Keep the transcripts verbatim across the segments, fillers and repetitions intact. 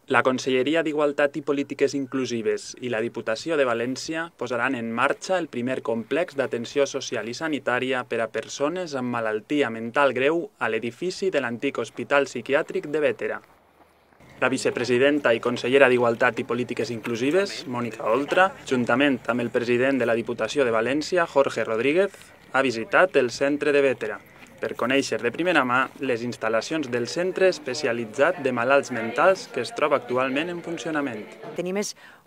La Conselleria d'Igualtat i Polítiques Inclusives i la Diputació de València posaran en marxa el primer complex d'atenció social i sanitària per a persones amb malaltia mental greu a l'edifici de l'antic Hospital Psiquiàtric de Bétera. La vicepresidenta i consellera d'Igualtat i Polítiques Inclusives, Mònica Oltra, juntament amb el president de la Diputació de València, Jorge Rodríguez, ha visitat el centre de Bétera per conèixer de primera mà les instal·lacions del centre especialitzat de malalts mentals que es troba actualment en funcionament. Tenim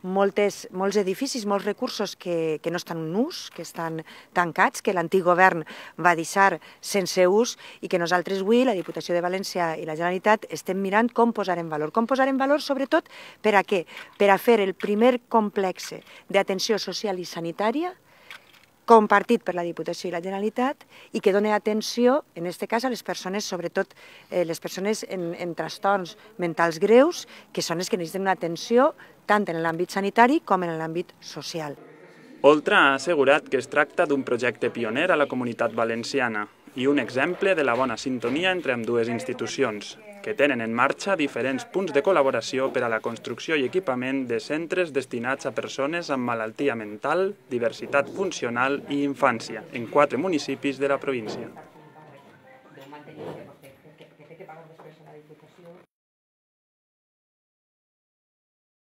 moltes, molts edificis, molts recursos que, que no estan en ús, que estan tancats, que l'antic govern va deixar sense ús i que nosaltres avui, la Diputació de València i la Generalitat, estem mirant com posar en valor. Com posar en valor, sobretot, per a què? Per a fer el primer complex d'atenció social i sanitària compartit per la Diputació i la Generalitat i que doni atenció, en aquest cas, a les persones, sobretot eh, les persones en, en trastorns mentals greus, que són les que necessiten una atenció tant en l'àmbit sanitari com en l'àmbit social. Oltra ha assegurat que es tracta d'un projecte pioner a la comunitat valenciana i un exemple de la bona sintonia entre ambdues institucions, que tenen en marxa diferents punts de col·laboració per a la construcció i equipament de centres destinats a persones amb malaltia mental, diversitat funcional i infància, en quatre municipis de la província.